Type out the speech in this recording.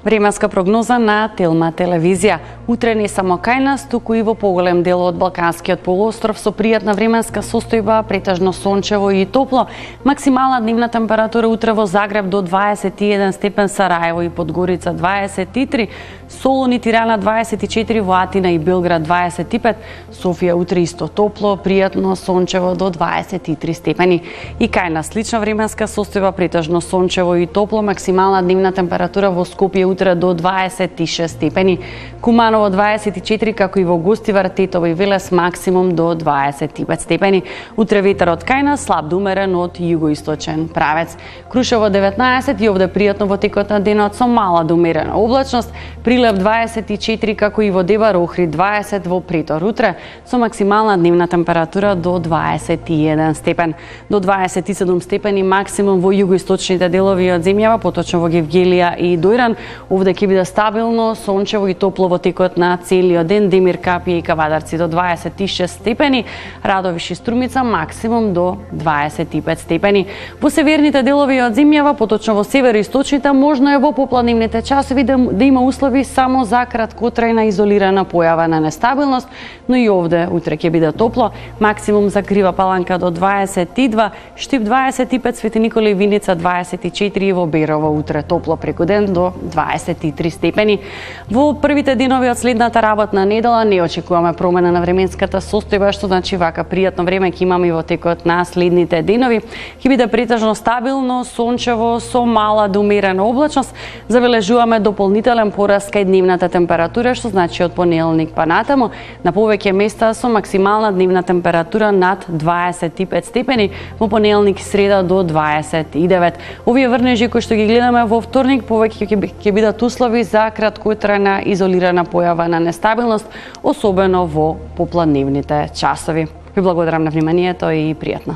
Временска прогноза на Телма телевизија. Утре не само кај нас, туку и во поголем дел од Балканскиот полуостров со пријатна временска состојба, претежно сончево и топло. Максимална дневна температура утре во Загреб до 21 степен, Сараево и Подгорица 23, Солун и Тирана 24, во Атина и Белград 25, Софија утре исто топло, пријатно сончево до 23 степени. И кај нас слична временска состојба, претежно сончево и топло, максимална дневна температура во Скопје утре до 26 степени, Куманово 24, како и во Гостивар, Тетово и Велес максимум до 25 степени. Утре ветерот кај нас слаб до умерен од југоисточен правец. Крушево 19 и овде пријатно во текот на денот со мала до умерена облачност, Прилеп 24, како и во Дебар, Охрид 20, во Претор утре со максимална дневна температура до 21 степен. До 27 степени максимум во југоисточните делови од земјава, поточно во Гевгелија и Дојран. Овде ќе биде стабилно, сончево и топло во текот на целиот ден. Демир, Капија и Кавадарци до 26 степени, Радовиш и Струмица максимум до 25 степени. Во северните делови од земјава, поточно во североисточните, можно е во попладневните часови да има услови само за краткотрајна изолирана појава на нестабилност, но и овде утре ќе биде топло, максимум за Крива Паланка до 22, Штип 25, Свети Никола и Виница 24 и во Берово утре топло преку ден до 23 степени. Во првите денови од следната работна недела не очекуваме промена на временската состојба, што значи вака пријатно време ќе имаме и во текот на следните денови. Ќе биде претежно стабилно, сончево со мала до умерена облачност. Забележуваме дополнителен пораст кај дневната температура, што значи од понеделник па натаму на повеќе места со максимална дневна температура над 25 степени, во понеделник и среда до 29. Овие врнежи кои што ги гледаме во вторник повеќе ќе бидат услови за краткотрајна изолирана појава на нестабилност, особено во попладневните часови. Ви благодарам на вниманието и пријатно.